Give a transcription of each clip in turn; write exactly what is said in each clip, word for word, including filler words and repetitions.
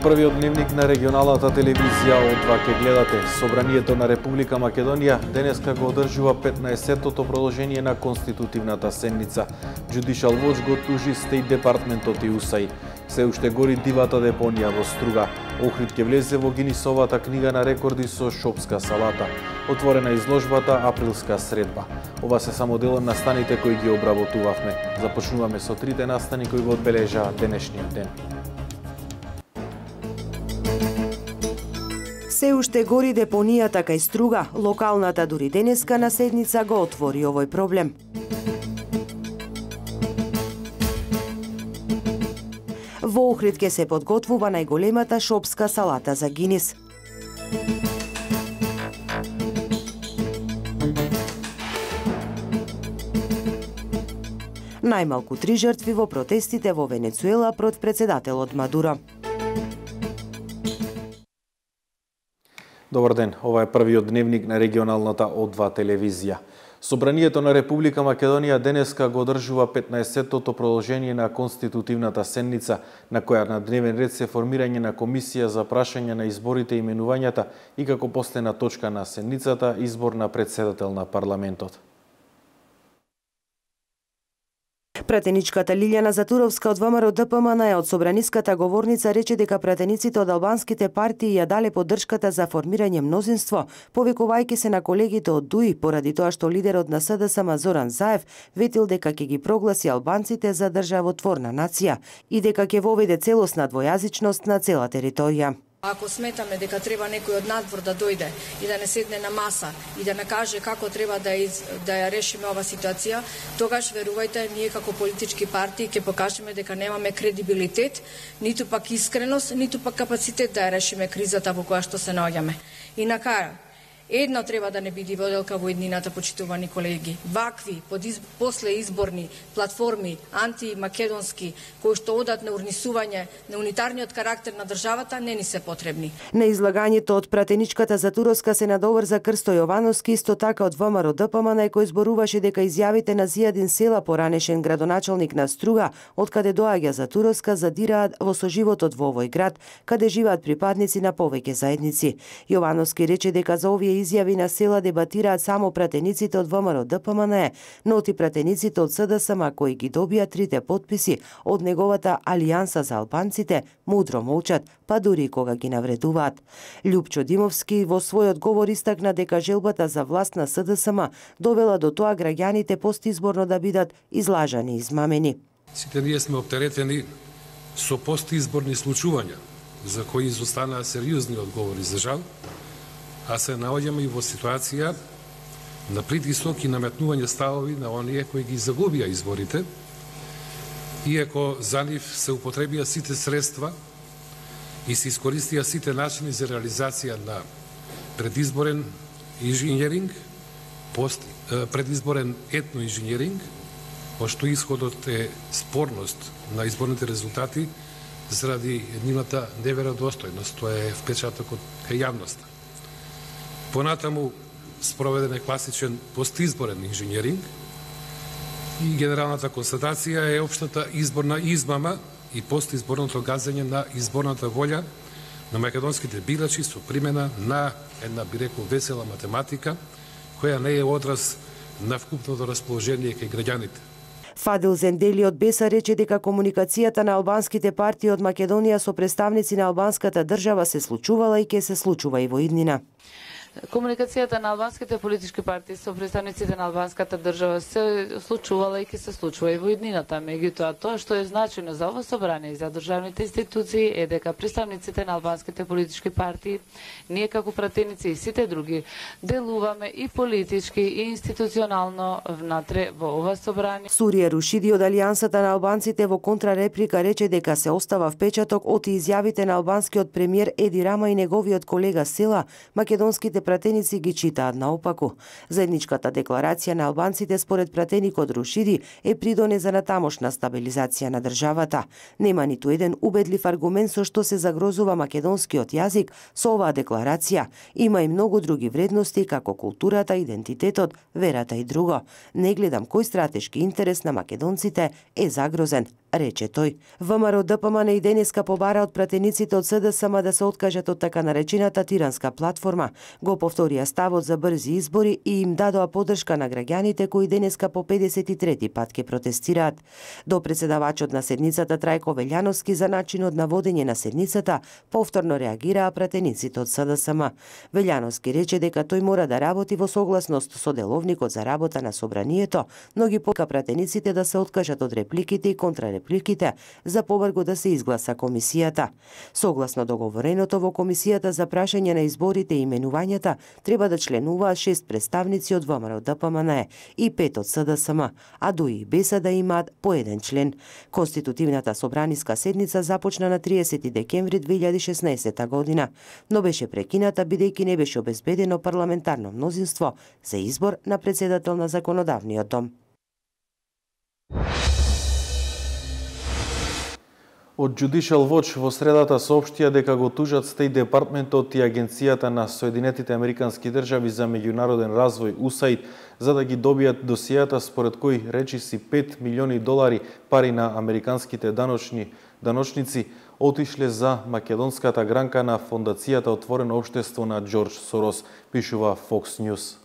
првиот дневник на регионалната телевизија од два ке гледате. Собранието на Република Македонија денеска го одржува петнаесеттото продолжение на конститутивната седница. Judicial Watch го тужи Стейт департментот и УСАИ. Се уште гори дивата депонија во Струга. Охрид ќе влезе во Гинисовата книга на рекорди со шопска салата. Отворена изложбата Априлска средба. Ова се само дел од настаните кои ги обработувавме. Започнуваме со трите настани кои го одбележаа денешниот ден. Се уште гори депонијата кај Струга, локалната дури денеска на седница го отвори овој проблем. Во Охрид ќе се подготвува најголемата шопска салата за Гинис. Најмалку три жртви во протестите во Венецуела против председателот Мадуро. Добар ден, ова е првиот дневник на регионалната О два телевизија. Собранието на Република Македонија денеска го одржува петнаесеттото продолжение на конститутивната седница, на која на дневен ред се формирање на комисија за прашање на изборите и именувањата и како последна точка на седницата избор на претседател на парламентот. Пратеничката Лилјана Затуровска од ВМРО Д П М Н од собраниската говорница рече дека пратениците од албанските партии ја дале поддршката за формирање мнозинство, повикувајќи се на колегите од ДУИ поради тоа што лидерот на С Д С М Зоран Заев ветил дека ќе ги прогласи албанците за државотворна нација и дека ќе воведе целосна двојазичност на цела територија. Ако сметаме дека треба некој од надвор да дојде и да не седне на маса и да накаже како треба да, из, да ја решиме ова ситуација, тогаш верувајте, ние како политички партии ќе покажеме дека немаме кредибилитет, ниту пак искреност, ниту пак капацитет да ја решиме кризата во која што се наоѓаме. И на крај, едно треба да не биде воделка во иднината, почитувани колеги. Вакви послеизборни платформи, антимакедонски, кои што одат на урнисување на унитарниот карактер на државата, не ни се потребни. На излагањето од пратеничката Затуровска се надоврза Крсто Јовановски, исто така од ВМРО Д П М Н, кој зборуваше дека изјавите на Зијадин Села, поранешен градоначалник на Струга, од каде доаѓа Затуровска, задираат во соживотот во овој град, каде живеат припадници на повеќе заедници. Јовановски рече дека за овие изјави на Села дебатираат само пратениците од ВМРО Д П М Н, но и пратениците од С Д С М кои ги добија трите потписи од неговата Алијанса за албанците, мудро молчат, па дури кога ги навредуваат. Љупчо Димовски во својот говор истакна дека желбата за власт на С Д С М довела до тоа граѓаните постизборно да бидат излажани и измамени. Сите ние сме оптеретени со постизборни случувања, за кои изостанаа сериозни одговори за жал, а се наоѓаме и во ситуација на притисок и наметнување ставови на оние кои ги загубија изборите, иако за нив се употребија сите средства и се искористија сите начини за реализација на предизборен инженеринг, пост, предизборен етноинженеринг, пошто исходот е спорност на изборните резултати заради нивната неверодостојност, тоа е впечатокот кај јавноста. Понатаму спроведен е класичен постизборен инженеринг и генералната констатација е општата изборна измама и постизборното газење на изборната волја на македонските бирачи со примена на една, би рекол, весела математика, која не е одраз на вкупното расположение кај граѓаните. Фадил Зендели од Беса рече дека комуникацијата на албанските партии од Македонија со представници на албанската држава се случувала и ќе се случува и во иднина. Комуникацијата на албанските политички партии со представниците на албанската држава се случувала и ќе се случува и во иднината. Меѓутоа, тоа што е значено за ова собрание и за државните институции е дека представниците на албанските политички партии, ние како пратеници и сите други, делуваме и политички и институционално внатре во ова собрание. Сурија Рушиди од Алијансата на албанците во контрареплика рече дека се остава впечаток од изјавите на албанскиот премиер Еди Рама и неговиот колега Села, македонските пратеници ги читаат наопаку. Заедничката декларација на албанците според пратеникот Рушиди е придоне за натамошна стабилизација на државата. Нема ниту еден убедлив аргумент со што се загрозува македонскиот јазик со оваа декларација. Има и многу други вредности како културата, идентитетот, верата и друго. Не гледам кој стратешки интерес на македонците е загрозен, рече тој. ВМРО ДПМН и денеска побара од пратениците од СДСМ да се откажат од така наречената тиранска платформа. Го повторија ставот за брзи избори и им дадоа поддршка на граѓаните кои денеска по педесет и трети пат ке протестираат. До председавачот на седницата Трајко Велјановски за начинот на водење на седницата повторно реагираа пратениците од СДСМ. Велјановски рече дека тој мора да работи во согласност со деловникот за работа на собранието, но ги пока пратениците да се откажат од репликите и контрарепликите за побрзо да се изгласа комисијата. Согласно договореното во комисијата за прашање на изборите и именувањата треба да членуваат шест представници од ВМРО ДПМН и пет од СДСМ, а ДУИ и БЕСА да имаат по еден член. Конститутивната собраниска седница започна на триесети декември две илјади и шеснаесетта година, но беше прекината бидејќи не беше обезбедено парламентарно мнозинство за избор на председател на законодавниот дом. Од Judicial Watch во средата соопштија дека го тужат Стејт Департментот и Агенцијата на Соединетите Американски држави за меѓународен развој У С А И Д за да ги добијат досијата според кои речиси пет милиони долари пари на американските даночни даночници отишле за македонската гранка на фондацијата Отворено општество на Џорџ Сорос, пишува Fox News.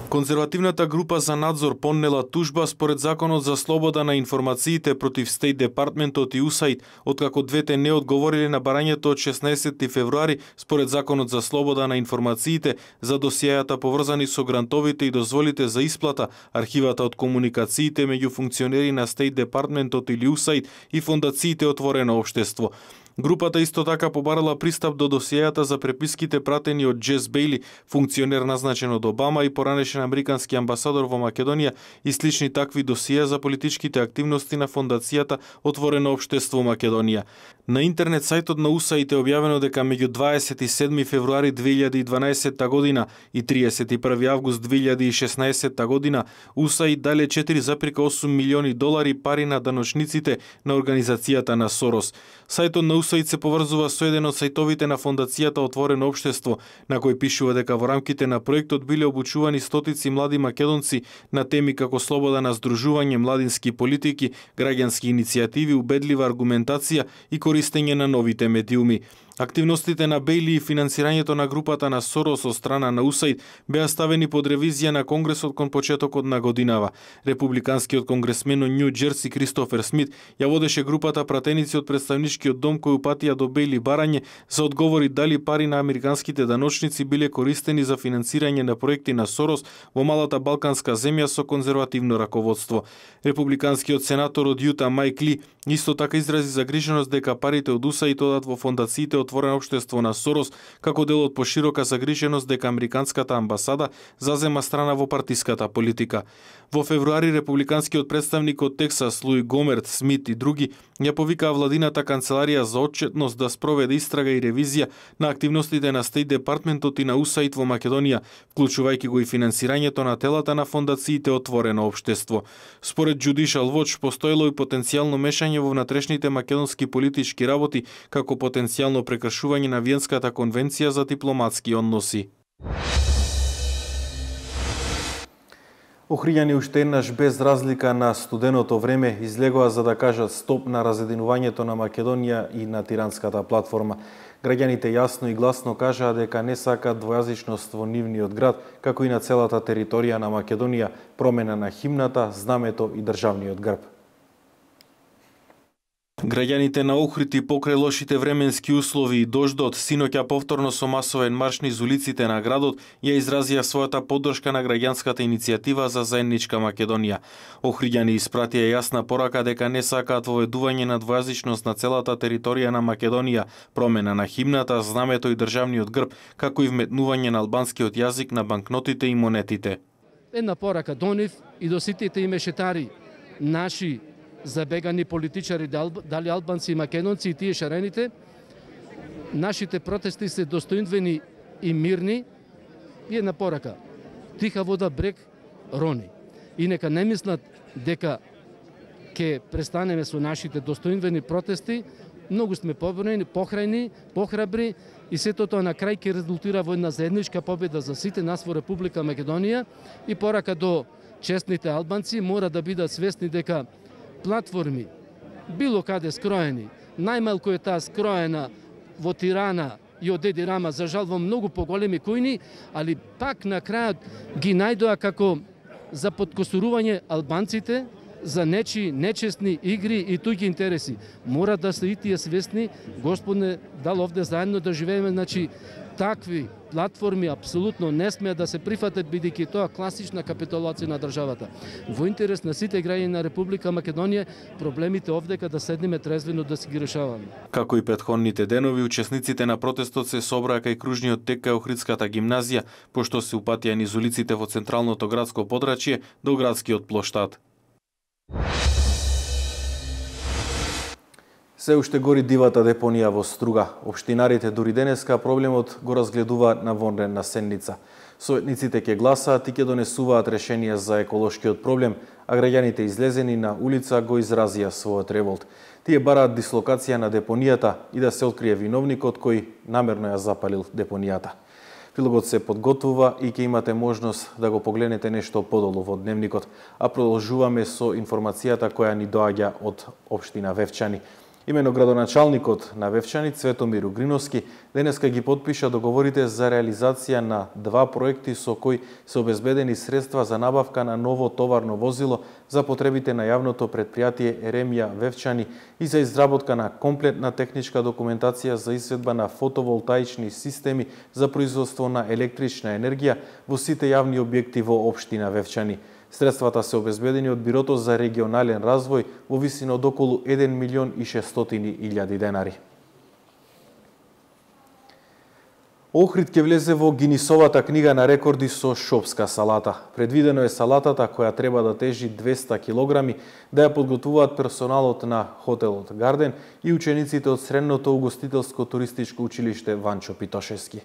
Конзервативната група за надзор поднела тужба според Законот за слобода на информациите против Стејт Департментот и У С А И Д, откако двете не одговориле на барањето од шеснаесетти февруари според Законот за слобода на информациите за досијајата поврзани со грантовите и дозволите за исплата, архивата од комуникациите меѓу функционери на Стејт Департментот или У С А И Д и фондациите Отворено општество. Групата исто така побарала пристап до досијајата за преписките пратени од Джес Бејли, функционер назначен од Обама и поранешен американски амбасадор во Македонија, и слични такви досија за политичките активности на фондацијата Отворено општество Македонија. На интернет сајтот на У С А И Д е објавено дека меѓу дваесет и седми февруари две илјади и дванаесетта година и триесет и први август две илјади и шеснаесетта година У С А И Д дале четири зарез и осум милиони долари пари на даночниците на организацијата на Сорос. Сајтот на У С А И Д се поврзува со еден од сајтовите на фондацијата Отворено општество, на кој пишува дека во рамките на проектот биле обучувани стотици млади македонци на теми како слобода на здружување, младински политики, граѓански иницијативи, убедлива аргументација и користење на новите медиуми. Активностите на Бејли и финансирањето на групата на Сорос од страна на У С А И Д беа ставени под ревизија на Конгресот кон почетокот на годинава. Републиканскиот конгресмен од Њу Џерси Кристофер Смит ја водеше групата пратеници од представничкиот дом кои упатија до Бејли барање за одговори дали пари на американските даночници биле користени за финансирање на проекти на Сорос во малата балканска земја со конзервативно раководство. Републиканскиот сенатор од Јута Мајк Ли исто така изрази загриженост дека парите од У С А И Д одат во фондациите Отворено општество на Сорос како дел од поширока загриженост дека американската амбасада зазема страна во партиската политика. Во февруари републиканскиот представник од Тексас Луи Гомерт, Смит и други ја повикаа владината канцеларија за отчетност да спроведе истрага и ревизија на активностите на Стејт Департментот и на У С А И Д во Македонија, вклучувајќи го и финансирањето на телата на фондациите Отворено општество. Според Judicial Watch постоело и потенцијално мешање во внатрешните македонски политички работи како потенцијално прекршување на Виенската конвенција за дипломатски односи. Охриѓани уште еднаш без разлика на студеното време излегоа за да кажат стоп на разединувањето на Македонија и на тиранската платформа. Граѓаните јасно и гласно кажаа дека не сакаат двојазичност во нивниот град, како и на целата територија на Македонија, промена на химната, знамето и државниот грб. Граѓаните на Охрид покрај лошите временски услови и дождот, синоќа повторно со масовен марш низ улиците на градот, ја изразија својата поддршка на граѓанската иницијатива за заедничка Македонија. Охриѓани испратија јасна порака дека не сакаат воведување на двојазичност на целата територија на Македонија, промена на химната, знамето и државниот грб, како и вметнување на албанскиот јазик на банкнотите и монетите. Една порака до нив и до сите мешетари наши забегани политичари, дали албанци и македонци и тие шарените, нашите протести се достоинствени и мирни и една порака. Тиха вода брег рони. И нека не мислат дека ќе престанеме со нашите достоинствени протести, многу сме поборени, похрајни, похрабри и сето тоа на крај ќе резултира во една заедничка победа за сите нас во Република Македонија. И порака до честните албанци мора да бидат свесни дека платформи било каде скроени. Најмалку е таа скроена во Тирана и од Еди Рама, за жал во многу поголеми кујни, али пак на крајот ги најдоа како за подкосурување албанците, за нечи нечестни игри и туѓи интереси. Мора да се и тие свесни, Господне, дал овде заедно да живееме, значи такви платформи апсолутно не смеат да се прифатат, бидејќи тоа класична капитулација на државата. Во интерес на сите граѓани на Република Македонија, проблемите овдека да седнеме трезвено да си ги решаваме. Како и претходните денови, учесниците на протестот се собраа кај кружниот тек кај Охридската гимназија, пошто се упатија низ улиците во централното градско подрачје до градскиот плоштад. Се уште гори дивата депонија во Струга. Општинарите дури денеска проблемот го разгледуваат на вонредна седница. Советниците ќе гласаат и ќе донесуваат решенија за еколошкиот проблем, а граѓаните излезени на улица го изразија својот револт. Тие бараат дислокација на депонијата и да се открие виновникот кој намерно ја запалил депонијата. Прилогот се подготвува и ќе имате можност да го погледнете нешто подолу во дневникот, а продолжуваме со информацијата која ни доаѓа од општина Вевчани. Имено градоначалникот на Вевчани, Цветомир Угриновски, денеска ги потпиша договорите за реализација на два проекти со кои се обезбедени средства за набавка на ново товарно возило за потребите на јавното предпријатие Еремија Вевчани и за изработка на комплетна техничка документација за изведба на фотоволтаични системи за производство на електрична енергија во сите јавни објекти во општина Вевчани. Средствата се обезбедени од Бирото за регионален развој во висина од околу еден милион и шестстотини илјади денари. Охрид ќе влезе во Гинисовата книга на рекорди со шопска салата. Предвидено е салатата, која треба да тежи двеста килограми, да ја подготвуваат персоналот на хотелот Гарден и учениците од Средното угостителско туристичко училиште Ванчо Питошевски.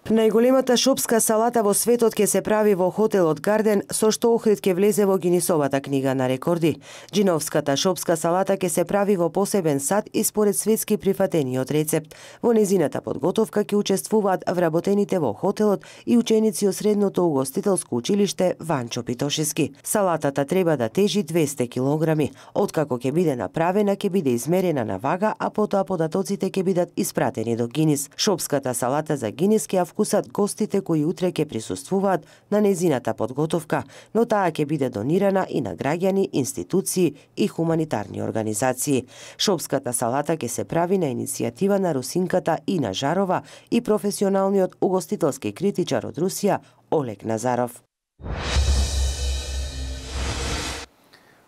Најголемата шопска салата во светот ќе се прави во хотелот Гарден, со што Охрид ќе влезе во Гинисовата книга на рекорди. Джиновската шопска салата ќе се прави во посебен сад и според светски прифатениот рецепт. Во незината подготовка ќе учествуваат вработените во хотелот и ученици од Средното угостителско училиште Ванчо Питошевски. Салатата треба да тежи двеста килограми. Откако ќе биде направена, ќе биде измерена на вага, а потоа податоците ќе бидат испратени до Гинис. Шопската салата за Гинис ќе вкусат гостите кои утре ќе присуствуваат на незината подготовка, но таа ќе биде донирана и на граѓани, институции и хуманитарни организации. Шопската салата ќе се прави на иницијатива на русинката Ина Жарова и професионалниот угостителски критичар од Русија Олег Назаров.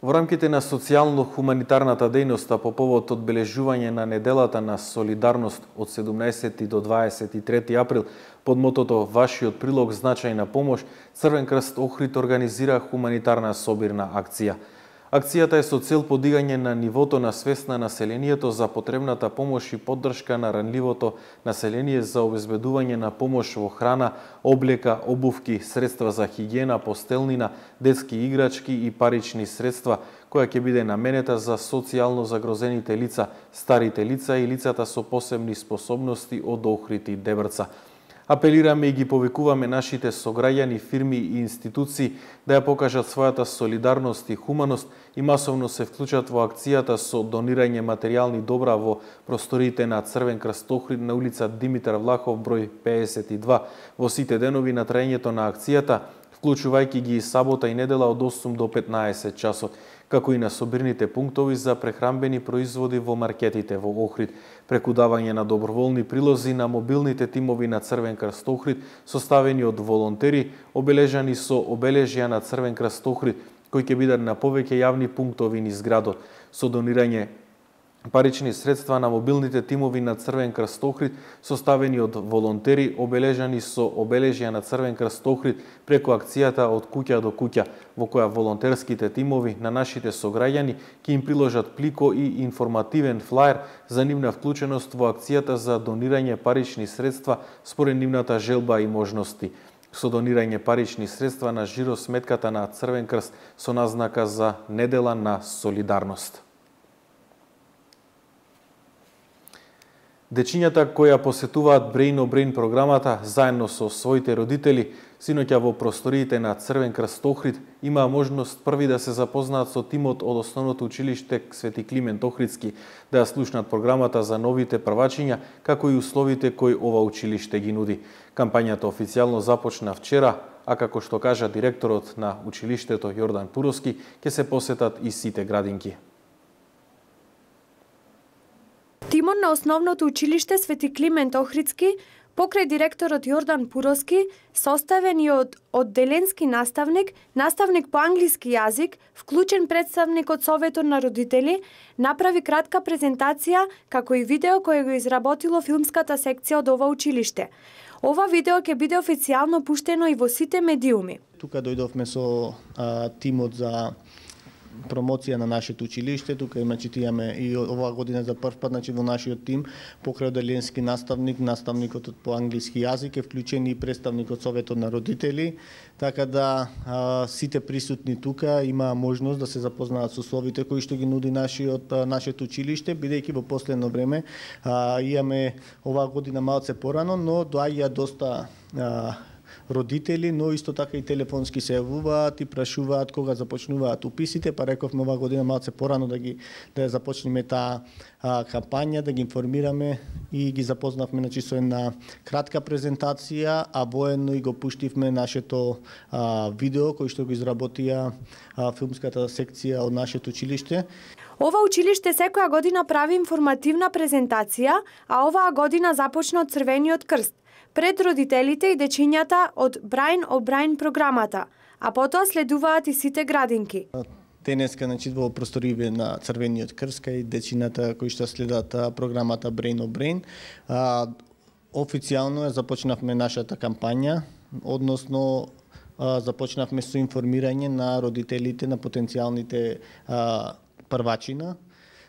Во рамките на социјално-хуманитарната дејност по повод одбележување на неделата на солидарност од седумнаесети до дваесет и трети април под мотото Вашиот прилог значајна помош, Црвен крст Охрид организира хуманитарна собирна акција. Акцијата е со цел подигање на нивото на свест на населението за потребната помош и поддршка на ранливото население за обезбедување на помош во храна, облека, обувки, средства за хигиена, постелнина, детски играчки и парични средства, која ќе биде наменета за социјално загрозените лица, старите лица и лицата со посебни способности од Охрид и Дебрца. Апелираме и ги повикуваме нашите сограѓани, фирми и институции да ја покажат својата солидарност и хуманост и масовно се вклучат во акцијата со донирање материјални добра во просториите на Црвен крст Охрид на улица Димитар Влахов број пеесет и два во сите денови на траењето на акцијата, вклучувајќи ги и сабота и недела од осум до петнаесет часот, како и на собирните пунктови за прехранбени производи во маркетите во Охрид, преку давање на доброволни прилози на мобилните тимови на Црвен крст Охрид, составени од волонтери, обележани со обележја на Црвен крст Охрид, кои ќе бидат на повеќе јавни пунктови низ градот, со донирање парични средства на мобилните тимови на Црвен крст Охрид, составени од волонтери, обележани со обележја на Црвен крст Охрид преку акцијата од куќа до куќа, во која волонтерските тимови на нашите сограѓани ќе им приложат плико и информативен флаер за нивна вклученост во акцијата за донирање парични средства според нивната желба и можности, со донирање парични средства на жиросметката на Црвен крст со назнака за недела на солидарност. Дечињата кои ја посетуваат Brain on Brain програмата заедно со своите родители, синоќа во просториите на Црвен крст Охрид имаа можност први да се запознаат со тимот од основното училиште Свети Климент Охридски, да ја слушнат програмата за новите првачиња, како и условите кои ова училиште ги нуди. Кампањата официјално започна вчера, а како што кажа директорот на училиштето Јордан Пуровски, ќе се посетат и сите градинки. Тимот на основното училиште Свети Климент Охридски, покрај директорот Јордан Пуровски, составен и од одделенски наставник, наставник по англиски јазик, вклучен представник од Советот на родители, направи кратка презентација, како и видео кој го изработило филмската секција од ова училиште. Ова видео ќе биде официјално пуштено и во сите медиуми. Тука дојдовме со а, тимот за промоција на нашето училиште. Тука имачи имаме и оваа година за прв пат, значи во нашиот тим покрај одделенски наставник, наставникот по англиски јазик е вклучен и представник од Советот на родители, така да а, сите присутни тука има можност да се запознаат со условите кои што ги нуди нашиот нашето училиште, бидејќи во последно време а, имаме оваа година малце порано, но доаѓа доста а, родители, но исто така и телефонски се јавуваат и прашуваат кога започнуваат уписите, па рековме оваа година малце порано да ги да ја започнеме таа а, кампања, да ги информираме и ги запознавме значи со една кратка презентација, а воедно и го пуштивме нашето а, видео кој што го изработија а, филмската секција од нашето училиште. Ова училиште секоја година прави информативна презентација, а оваа година започна од Црвениот крст, пред родителите и дечињата од Brain on Brain програмата, а потоа следуваат и сите градинки. Денеска, значи, во просториите на Црвениот крст и дечињата кои што следат програмата Brain on Brain, а, официјално започнавме нашата кампања, односно а, започнавме со информирање на родителите на потенцијалните а, првачина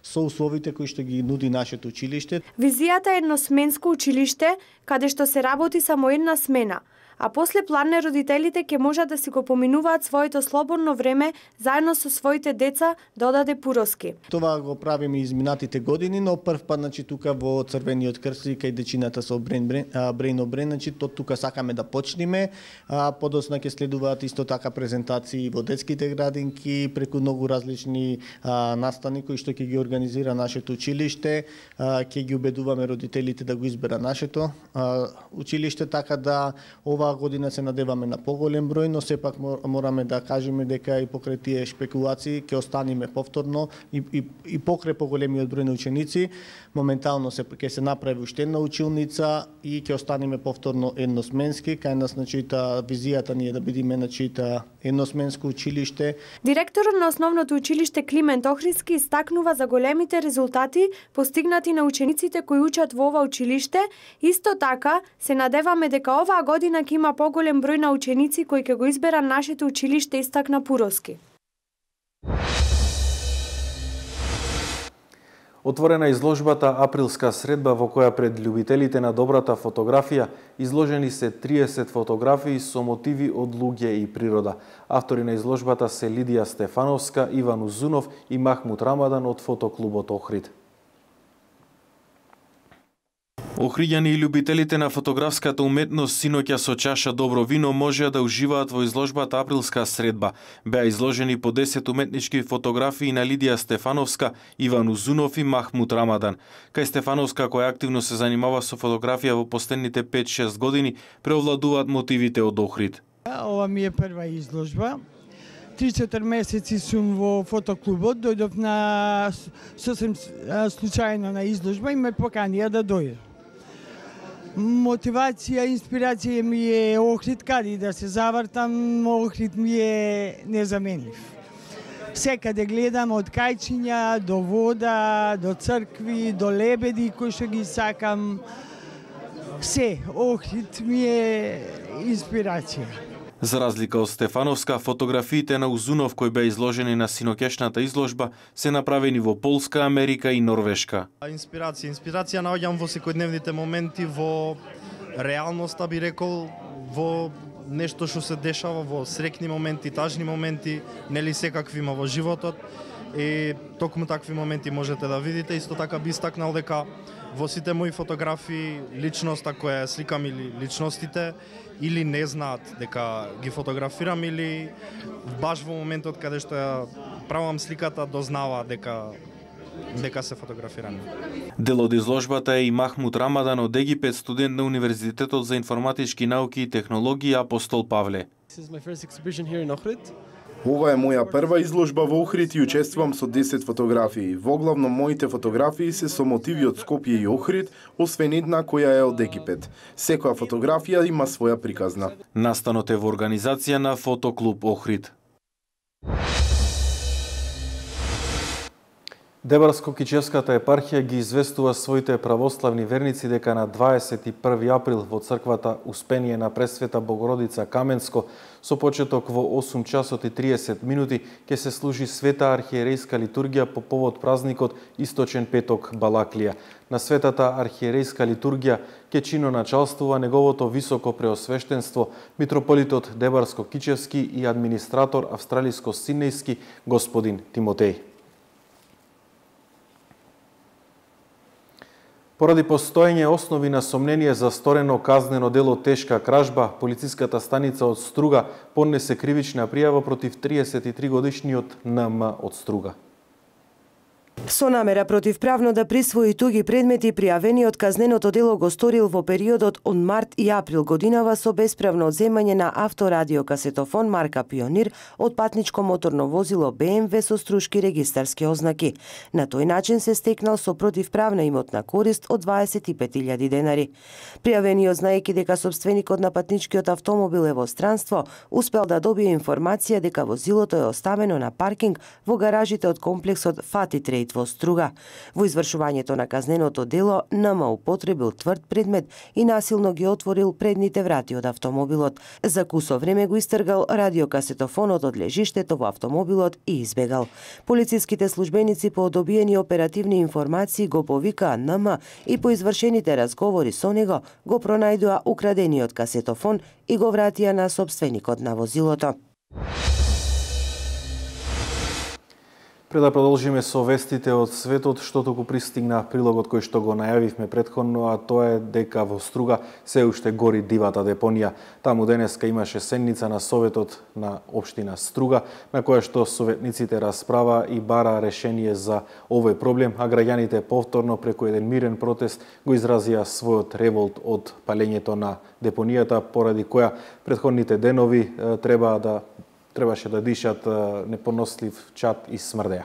со условите кои што ги нуди нашето училиште. Визијата е едносменско училиште, каде што се работи само една смена, а после планне родителите ќе можат да си го поминуваат своето слободно време заедно со своите деца, додаде Пуровски. Това го правиме изминатите години, но прв пат значи тука во Црвениот крст и кај дечината со Brain on Brain, значи то тука сакаме да почнеме, а подосна ќе следуваат исто така презентации во детските градинки, преку многу различни а, настани кои што ќе ги организира нашето училиште, а, ќе ги убедуваме родителите да го избера нашето а, училиште, така да ова година се надеваме на поголем број, но сепак мораме да кажеме дека и покрај тие шпекулации ќе останеме повторно и, и, и покрај поголемиот број на ученици, моментално се ќе се направи уште една училница и ќе останеме повторно едносменски, кај нас значи та визијата ни е да бидеме значи та едносменско училиште. Директорот на основното училиште Климент Охридски истакнува за големите резултати постигнати на учениците кои учат во ова училиште. Исто така се надеваме дека оваа година ќе има поголем број на ученици кои ќе го избера нашето училиште, истакна Пуровски. Отворена изложбата Априлска средба, во која пред љубителите на добрата фотографија изложени се триесет фотографии со мотиви од луѓе и природа. Автори на изложбата се Лидија Стефановска, Иван Узунов и Махмут Рамадан од фотоклубот Охрид. Охриѓани и љубителите на фотографската уметност синоќа со чаша добро вино можеа да уживаат во изложбата Априлска средба. Беа изложени по десет уметнички фотографии на Лидија Стефановска, Иван Узунов и Махмут Рамадан. Кај Стефановска, која активно се занимава со фотографија во последните пет-шест години, преовладуваат мотивите од Охрид. Ова ми е прва изложба. три-четири месеци сум во фотоклубот, дојдов на сосем случајно на изложба и ме поканија да дојдам. Мотивација, инспирација ми е Охрид, каде да се завртам, Охрид ми е незаменлив. Секаде гледам од кајчиња до вода, до цркви, до лебеди кои што ги сакам. Се, Охрид ми е инспирација. За разлика од Стефановска, фотографиите на Узунов кои беа изложени на синокешната изложба се направени во Полска, Америка и Норвешка. Инспирација, инспирација наоѓам во секојдневните моменти, во реалноста би рекол, во нешто што се дешава, во среќни моменти, тажни моменти, нели секакви има во животот. И токму такви моменти можете да видите. Исто така би истакнал дека во сите мои фотографии личноста која ја сликам или личностите или не знаат дека ги фотографирам или баш во моментот каде што ја правам сликата дознава дека дека се фотографирани. Дел од изложбата е и Махмуд Рамадан од Египет, студент на Универзитетот за информатички науки и технологии Апостол Павле. Ова е моја прва изложба во Охрид и учествувам со десет фотографии. Воглавно моите фотографии се со мотиви од Скопје и Охрид, освен една која е од Египет. Секоја фотографија има своја приказна. Настанот е во организација на Фотоклуб Охрид. Дебарско-Кичевската епархија ги известува своите православни верници дека на дваесет и први април во црквата Успение на Пресвета Богородица Каменско со почеток во осум часот и триесет минути ќе се служи света архиерејска литургија по повод празникот Источен петок Балаклија. На светата архиерејска литургија ќе чиноначалствува неговото високо преосвештенство митрополитот Дебарско-Кичевски и администратор австралиско-сиднејски господин Тимотеј. Поради постоење основи на сомнение за сторено казнено дело тешка кражба, полициската станица од Струга поднесе кривична пријава против триесет и три годишниот Н М од Струга. Со намера противправно да присвои туги предмети, пријавениот казненото дело го сторил во периодот од март и април годинава со бесправно одземање на авторадиокасетофон марка Пионир од патничко моторно возило Б М В со струшки регистарски ознаки. На тој начин се стекнал со противправна имотна корист од дваесет и пет илјади денари. Пријавениот, знаејќи дека собственикот на патничкиот автомобил е во странство, успел да добие информација дека возилото е оставено на паркинг во гаражите од комплексот Фати Трейд во Струга. Во извршувањето на казненото дело, Н М употребил тврд предмет и насилно ги отворил предните врати од автомобилот. За кусо време го истргал радиокасетофонот од лежиштето во автомобилот и избегал. Полициските службеници по добиени оперативни информации го повикаа Н М и по извршените разговори со него го пронајдоа украдениот касетофон и го вратија на собственикот на возилото. Пред да продолжиме со вестите од светот, што туку пристигна прилогот кој што го најавивме претходно, а тоа е дека во Струга се уште гори дивата депонија. Таму денеска имаше седница на Советот на општина Струга, на која што советниците расправа и бара решение за овој проблем, а граѓаните повторно преку еден мирен протест го изразија својот револт од палењето на депонијата, поради која претходните денови треба да требаше да дишат непонослив чад и смрдеа.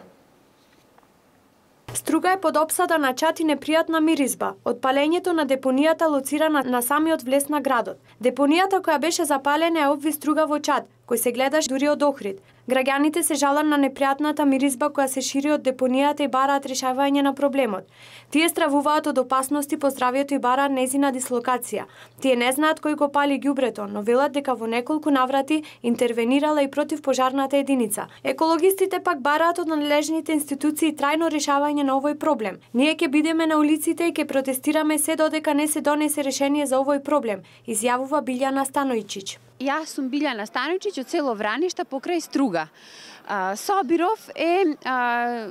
Струга е под опсада на чад и непријатна миризба од палењето на депонијата лоцирана на самиот влез на градот. Депонијата која беше запалена е обви Струга во чад, кој се гледаш дури од Охрид. Граѓаните се жалат на непријатната миризба која се шири од депонијата и бараат решавање на проблемот. Тие стравуваат од опасности по здравјето и бараат незина дислокација. Тие не знаат кој го пали ѓубрето, но велат дека во неколку наврати интервенирала и против пожарната единица. Екологистите пак бараат од надлежните институции трајно решавање на овој проблем. Ние ќе бидеме на улиците и ќе протестираме се додека не се донесе решение за овој проблем, изјавува Билјана Станојчиќ. Јас сум Билјана Станојчиќ од село Враништа покрај Струга. Собиров е а,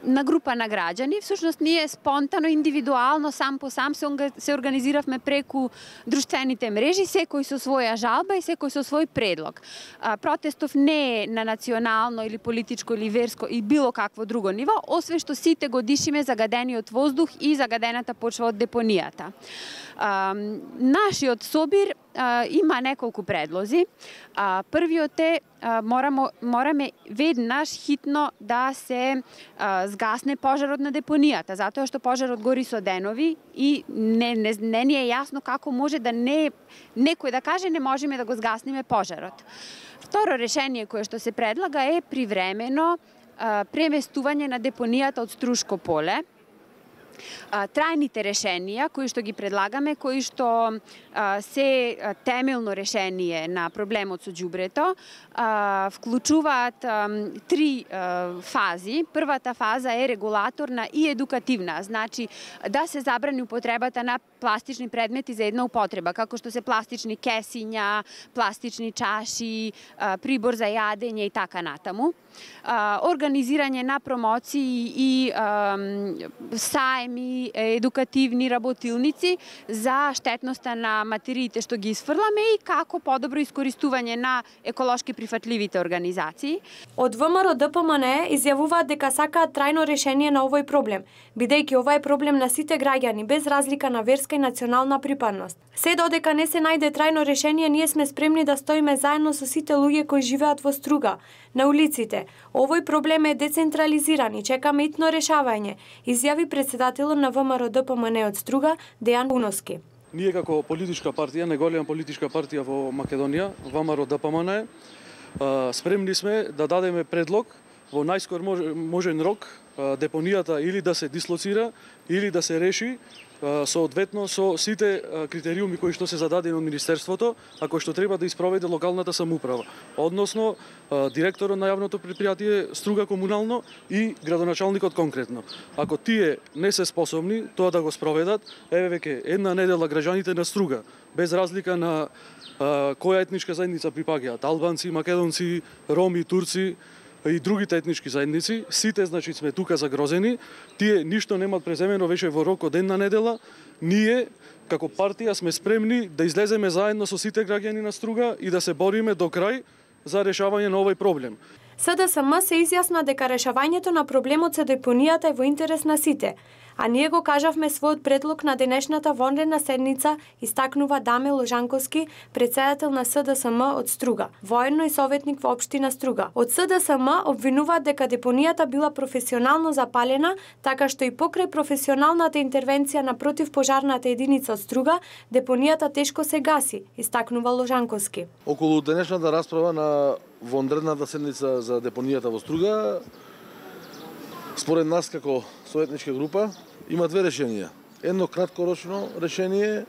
на група на граѓани. Всушност ние спонтано, индивидуално, сам по сам се организиравме преку друштвените мрежи, секој со своја жалба и секој со свој предлог. Протестов не е на национално или политичко или верско и било какво друго ниво, освен што сите го дишиме загадениот воздух и загадената почва од депонијата. Нашиот собир има неколку предлози. Првиот е морamo, мораме веднаш хитно да се згасне пожарот на депонијата, затоа што пожарот гори со денови и не, не, не ни е јасно како може да не некој да каже не можеме да го згаснеме пожарот. Второ решение кое што се предлага е привремено преместување на депонијата од Струшко поле. Трајните решенија кои што ги предлагаме, кои што се темелно решение на проблемот со ѓубрето, вклучуваат три фази. Првата фаза е регулаторна и едукативна, значи да се забрани употребата на пластични предмети за една употреба, како што се пластични кесиња, пластични чаши, прибор за јадење и така натаму. Организирање на промоции и саеми, едукативни работилници за штетноста на материите што ги исфрламе и како подобро искористување на еколошки прифатливите организации. Од ВМРО-ДПМНЕ изјавуваат дека сакаат трајно решение на овој проблем, бидејќи ова е проблем на сите граѓани без разлика на верска и национална припадност. Се додека не се најде трајно решение, ние сме спремни да стоиме заедно со сите луѓе кои живеат во Струга, на улиците. Овој проблем е децентрализиран и чекаме итно решавање, изјави председателот на ВМРО-ДПМНЕ од Струга, Дејан Уноски. Ние како политичка партија, најголема политичка партија во Македонија, ВМРО-ДПМНЕ, спремни сме да дадеме предлог во најскор можен рок депонијата или да се дислоцира, или да се реши соодветно со сите критериуми кои што се зададени од Министерството, а кои што треба да испроведе локалната самоуправа, односно директорот на јавното предпријатие Струга комунално и градоначалникот конкретно. Ако тие не се способни тоа да го спроведат, еве веќе една недела граѓаните на Струга, без разлика на која етничка заедница припаѓаат, албанци, македонци, роми, турци и другите етнички заедници, сите значи сме тука загрозени, тие ништо немаат преземено веќе во рок од една недела, ние како партија сме спремни да излеземе заедно со сите граѓани на Струга и да се бориме до крај за решавање на овој проблем. СДСМ се изјасна дека решавањето на проблемот со депонијата е во интерес на сите, а ние го кажавме својот предлог на денешната вонредна седница, истакнува Даме Ложанковски, председател на СДСМ од Струга, воено и советник во општина Струга. Од СДСМ обвинуваат дека депонијата била професионално запалена, така што и покрај професионалната интервенција на противпожарната единица од Струга, депонијата тешко се гаси, истакнува Ложанковски. Околу денешната расправа на вонредната седница за депонијата во Струга, според нас како советничка група, има две решенија. Едно краткорочно решение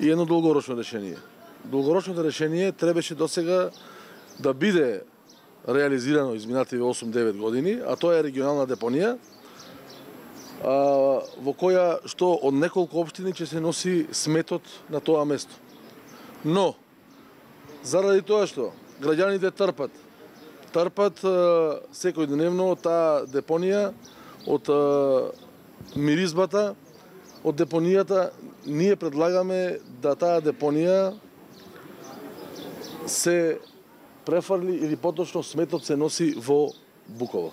и едно долгорочно решение. Долгорочното решение требаше досега да биде реализирано изминативе осум-девет години, а тоа е регионална депонија, а, во која што од неколку општини ќе се носи сметот на тоа место. Но, заради тоа што граѓаните трпат, трпат секојдневно таа депонија од миризбата, од депонијата, ние предлагаме да таа депонија се префарли или поточно сметот се носи во Буково.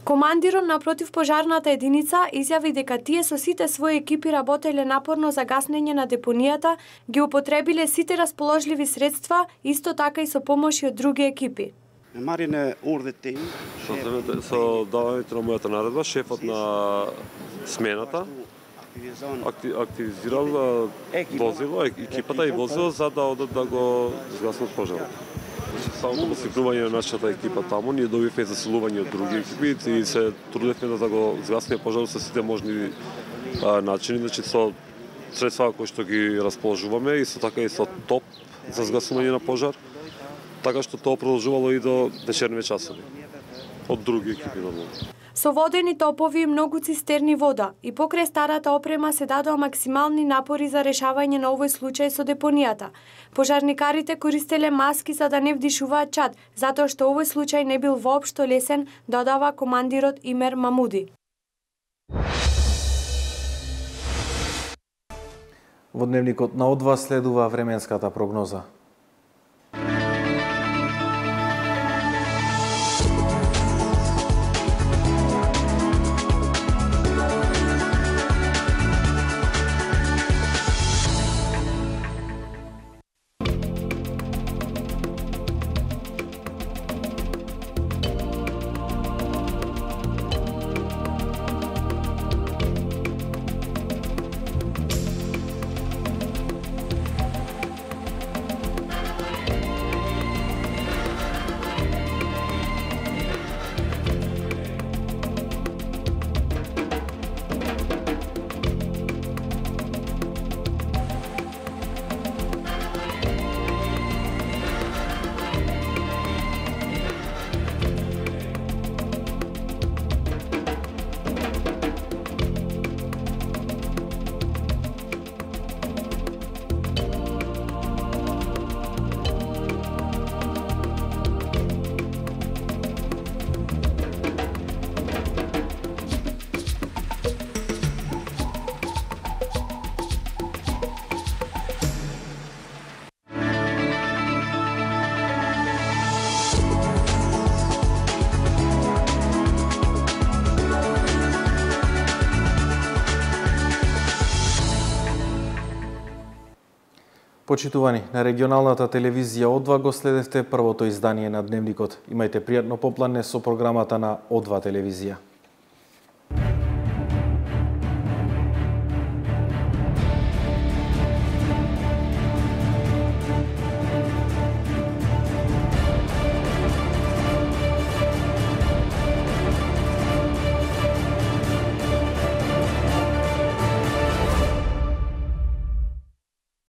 Командирот на противпожарната единица изјави дека тие со сите своји екипи работеле напорно за гаснење на депонијата, ги употребиле сите расположливи средства, исто така и со помош од други екипи. Со давањето на мојата наредба, шефот на смената активизирал возило, екипата и возило за да одат да го згаснат пожарот. Само по свикнување на нашата екипа таму, ние добивме засилување од други екипи и се трудевме да го згасиме пожарот со сите можни а, начини, значи со средства кои што ги расположуваме и со така и со топ за згасување на пожар, така што тоа продолжувало и до вечерните часови од други екипи нормално. Со водени топови и многу цистерни вода и покрај старата опрема се дадоа максимални напори за решавање на овој случај со депонијата. Пожарникарите користеле маски за да не вдишуваат чад, затоа што овој случај не бил воопшто лесен, додава командирот Имер Мамуди. Во дневникот на од два следува временската прогноза. Почитувани, на регионалната телевизија О два го следевте првото издание на Дневникот. Имајте пријатно попладне со програмата на О два телевизија.